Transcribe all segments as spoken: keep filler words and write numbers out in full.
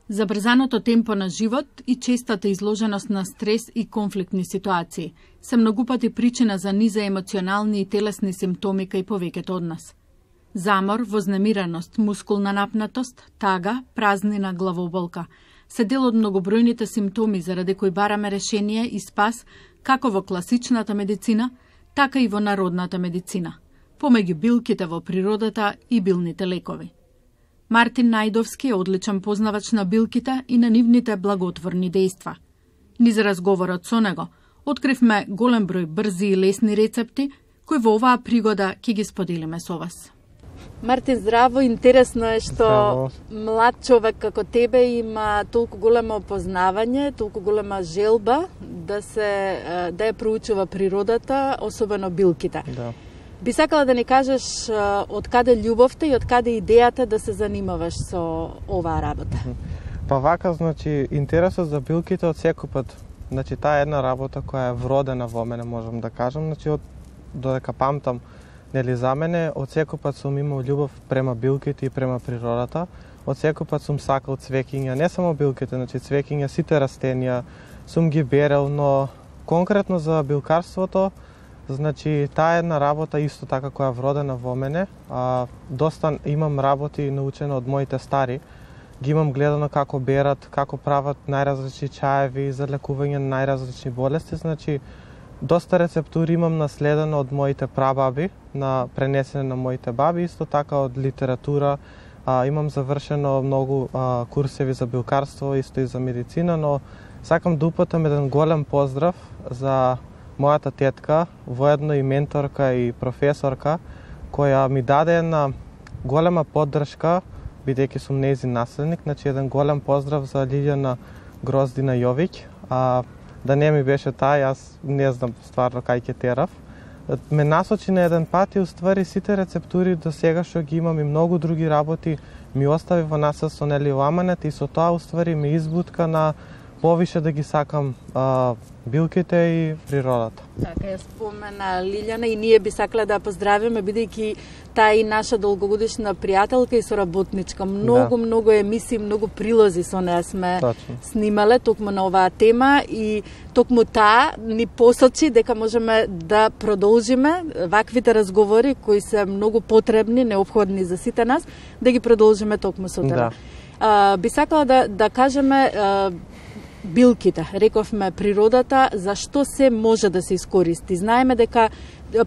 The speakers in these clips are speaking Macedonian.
Забрзаното темпо на живот и честата изложеност на стрес и конфликтни ситуации се многу пати причина за низа емоционални и телесни симптоми кај повеќето од нас. Замор, вознемираност, мускулна напнатост, тага, празнина, главоболка се дел од многобројните симптоми заради кои бараме решение и спас како во класичната медицина, така и во народната медицина, помеѓу билките во природата и билните лекови. Мартин Најдовски е одличен познавач на билките и на нивните благотворни дејства. Низ разговорот со него откривме голем број брзи и лесни рецепти кои во оваа пригода ќе ги споделиме со вас. Мартин, здраво, интересно е што здраво. Млад човек како тебе има толку големо познавање, толку голема желба да се да ја проучува природата, особено билките. Да. Би сакала да ни кажеш од каде љубовта и од каде идејата да се занимаваш со оваа работа? Па вака, значи, интересот за билките од секој пат. Значи, таа е една работа која е вродена во мене, можам да кажам. Значи, од додека памтам, нели, за мене, од секој пат сум имал љубов према билките и према природата. Од секој пат сум сакал цвеќиња, не само билките, значи цвеќиња, сите растенија, сум ги берел, но конкретно за билкарството, значи, таа е една работа исто така која е вродена во мене. А, доста имам работи научено од моите стари. Ги имам гледано како берат, како прават најразлични чаеви за лекување на најразлични болести. Значи, доста рецептури имам наследено од моите прабаби, на пренесене на моите баби, исто така од литература. А, имам завршено многу а, курсеви за билкарство, исто и за медицина, но сакам да упатам еден голем поздрав за мојата тетка, воедно и менторка и професорка, која ми даде една голема поддршка, бидејќи сум нејзин наследник. Значи, еден голем поздрав за Лилјана Гроздина Јовиќ. А, да не ми беше таа, јас не знам стварно кај ќе терав. Ме насочи на еден пат и уствари сите рецептури до сега што ги имам и многу други работи ми остави во насад со нели ламанет и со тоа уствари ме избутка на повише да ги сакам а, билките и природата. Така, ја спомена Лилјана и ние би сакале да ја поздравиме, бидејќи таа е наша долгогодишна пријателка и соработничка. Многу, да. многу емисии, многу прилози со неа сме Точно. снимале токму на оваа тема и токму таа ни посочи дека можеме да продолжиме ваквите разговори кои се многу потребни, неопходни за сите нас, да ги продолжиме токму со тебе. Да. Би сакала да, да кажеме а, билките, рековме природата, зашто се може да се искористи. Знаеме дека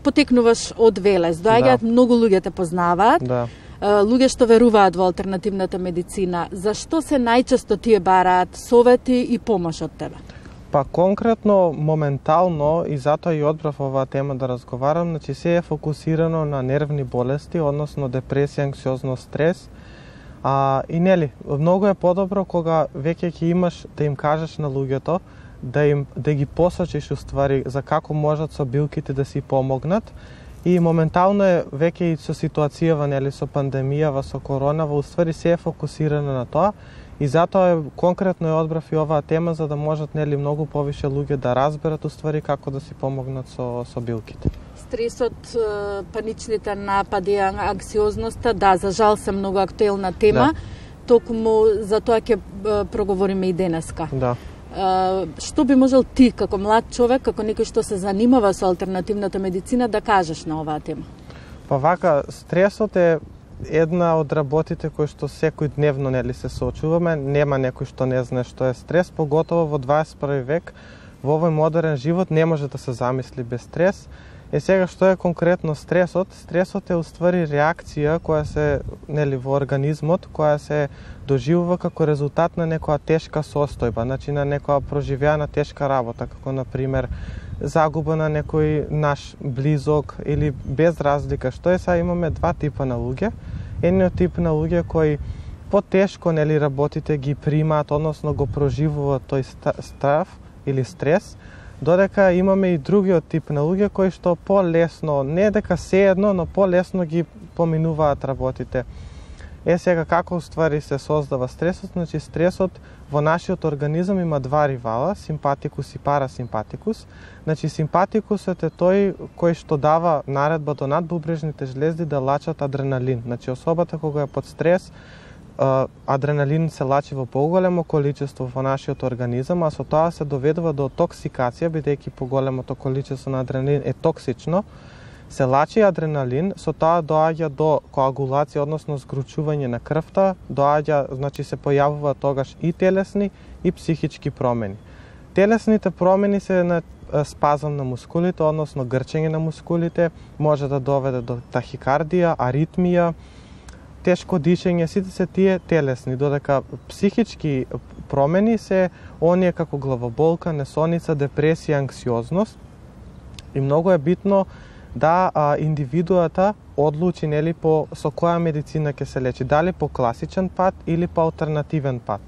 потекнуваш од Велес, доаѓаат да. многу луѓе те познаваат, да. луѓе што веруваат во алтернативната медицина. Зашто се најчесто тие бараат совети и помош од тебе? Па конкретно, моментално, и затоа и одбрав оваа тема да разговарам, значи се е фокусирано на нервни болести, односно депресија, анксиозност, стрес. А, и нели, многу е подобро кога веќе ќе имаш да им кажеш на луѓето, да им да ги посочиш уствари за како можат со билките да си помогнат. И моментално е веќе и со ситуацијава, нели, со пандемијава, со коронава, уствари се е фокусирано на тоа. И затоа е, конкретно е одбрав и оваа тема за да можат, нели, многу повише луѓе да разберат уствари како да си помогнат со со билките. Стресот, паничните напади, анксиозноста, да, за жал се многу актуелна тема, да. Токму за тоа ќе проговориме и денеска. Да. Што би можел ти, како млад човек, како некој што се занимава со алтернативната медицина, да кажеш на оваа тема? Па вака, стресот е една од работите кои што секој дневно, нели, се соочуваме. Нема некој што не знае што е стрес, поготово во дваесет и први век, во овој модерен живот не може да се замисли без стрес. Е сега што е конкретно стресот? Стресот е уствари реакција која се, нели, во организмот, која се доживува како резултат на некоја тешка состојба, значи на некоја проживеана тешка работа, како на пример загуба на некој наш близок или без разлика. Што е, сега имаме два типа на луѓе. Едниот тип на луѓе кои потешко, нели, работите ги примаат, односно го проживуваат тој страв или стрес, додека имаме и другиот тип на луѓе кои што полесно, не дека се едно, но полесно ги поминуваат работите. Е сега како уствари се создава стресот? Значи стресот во нашиот организам има два ривала, симпатикус и парасимпатикус. Значи симпатикусот е тој кој што дава наредба до надбубрежните жлезди да лачат адреналин. Значи особата кога е под стрес, адреналин се лачи во поголемо количество во нашиот организам, а со тоа се доведува до токсикација, бидејќи поголемото количество на адреналин е токсично. Се лачи адреналин, со тоа доаѓа до коагулација, односно згручување на крвта, доаѓа, значи се појавува тогаш и телесни и психички промени. Телесните промени се на спазам на мускулите, односно грчење на мускулите, може да доведе до тахикардија, аритмија, тешко дишење, сите се тие телесни, додека психички промени се оние како главоболка, несоница, депресија, анксиозност. И многу е битно да а, индивидуата одлучи нели по со која медицина ќе се лечи, дали по класичен пат или по алтернативен пат.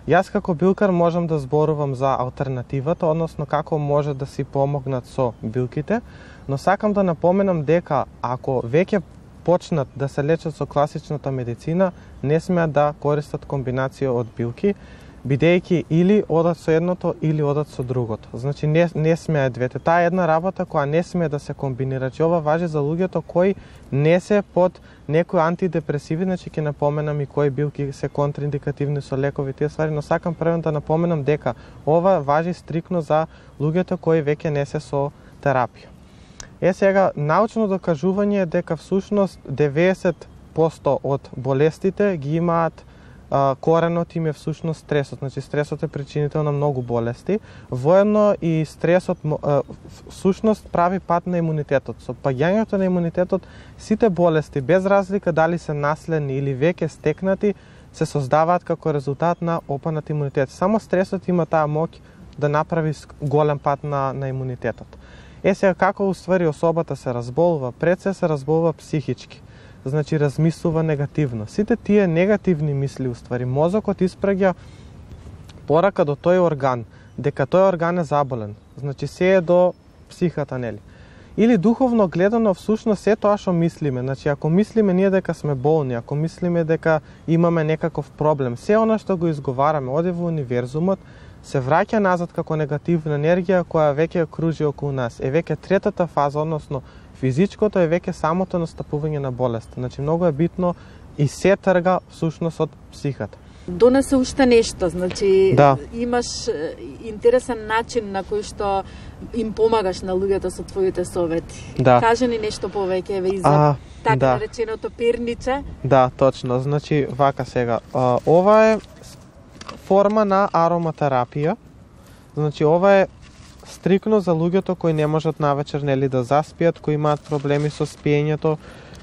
Јас како билкар можам да зборувам за алтернативата, односно како може да си помогнат со билките, но сакам да напоменам дека ако веќе почнат да се лечат со класичната медицина, не смеат да користат комбинација од билки, бидејќи или одат со едното или одат со другото. Значи не, не смее двете. Таа е една работа која не смее да се комбинира. Че ова важи за луѓето кои не се под некои антидепресиви, значи ќе напоменам и кои билки се контраиндикативни со лекови тие ствари, но сакам првено да напоменам дека ова важи стрикно за луѓето кои веќе не се со терапија. Е сега, научно докажување е дека всушност деветдесет проценти од болестите ги имаат а, коренот им е всушност стресот. Значи стресот е причинител на многу болести. Воедно и стресот а, всушност прави пат на имунитетот. Со паѓањето на имунитетот сите болести без разлика дали се наследни или веќе стекнати се создаваат како резултат на опанат имунитет. Само стресот има таа моќ да направи голем пат на, на имунитетот. Е сега како уствари особата се разболува, пред се се разболува психички. Значи размислува негативно. Сите тие негативни мисли уствари мозокот испраќа порака до тој орган дека тој орган е заболен. Значи се е до психата, нели? Или духовно гледано всушност се тоа што мислиме. Значи ако мислиме ние дека сме болни, ако мислиме дека имаме некаков проблем, се она што го изговараме оде во универзумот се враќа назад како негативна енергија која веќе кружи околу нас. Е веќе третата фаза, односно физичкото е веќе самото настапување на болест. Значи многу е битно и се трга всушност од психата. Донесе уште нешто, значи да. Имаш интересен начин на кој што им помагаш на луѓето со твоите совети. Да. Кажи ни нешто повеќе еве и за а, така да. нареченото перниче. Да, точно. Значи вака сега. А, ова е форма на ароматерапија. Значи ова е стрикно за луѓето кои не можат навечер нели да заспијат, кои имаат проблеми со спиењето,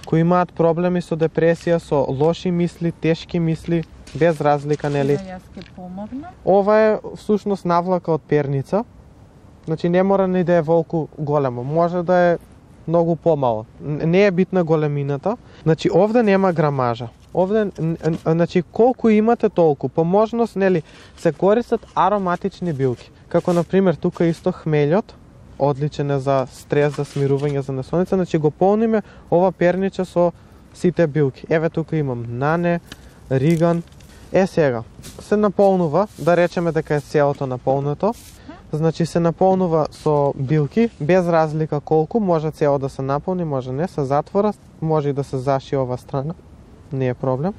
кои имаат проблеми со депресија, со лоши мисли, тешки мисли, без разлика нели. Да, јас ќе помогнам. Ова е всушност навлака од перница. Значи не мора ни да е волку големо, може да е многу помало. Не е битна големината. Значи овде нема грамажа. Овде, значи, колку имате толку. По можност, нели, се користат ароматични билки. Како, например, тука исто хмелјот, одличен е за стрес, за смирување, за несоница. Значи, го полниме ова перниче со сите билки. Еве, тука имам нане, риган. Е, сега, се наполнува, да речеме дека е целото наполнето. Значи, се наполнува со билки, без разлика колку, може цело да се наполни, може не, се затвора, може и да се заши ова страна. Не е проблем.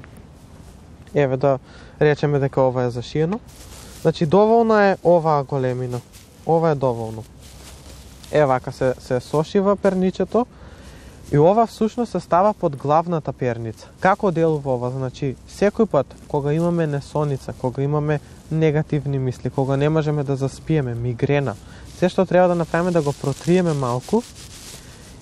Еве да речеме дека ова е зашиено. Значи доволна е оваа големина. Ова е доволно. Е вака се се сошива перничето и ова всушност се става под главната перница. Како делува ова? Значи секој пат кога имаме несоница, кога имаме негативни мисли, кога не можеме да заспиеме, мигрена, се што треба да направиме да го протриеме малку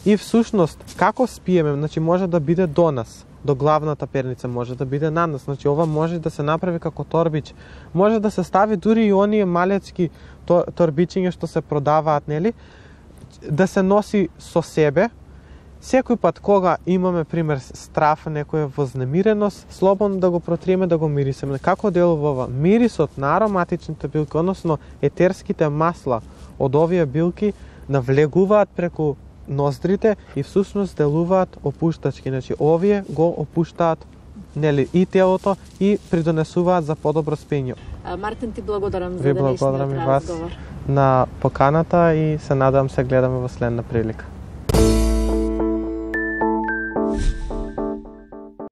и всушност како спиеме, значи може да биде до нас. До главната перница може да биде на нас. Значи ова може да се направи како торбич. Може да се стави дури и оние малецки торбичиња што се продаваат, нели? Да се носи со себе. Секој пат кога имаме пример страф, некоја вознемиреност, слободно да го протриеме, да го мирисеме. Како делува ова? Мирисот на ароматичните билки, односно етерските масла од овие билки навлегуваат преку ноздрите и всушност делуваат опуштачки. Значи овие го опуштаат нели и телото и придонесуваат за подобро спиење. Мартин, ти благодарам за денешниот разговор. Ви благодарам и вас на поканата и се надевам се гледаме во следна прилика.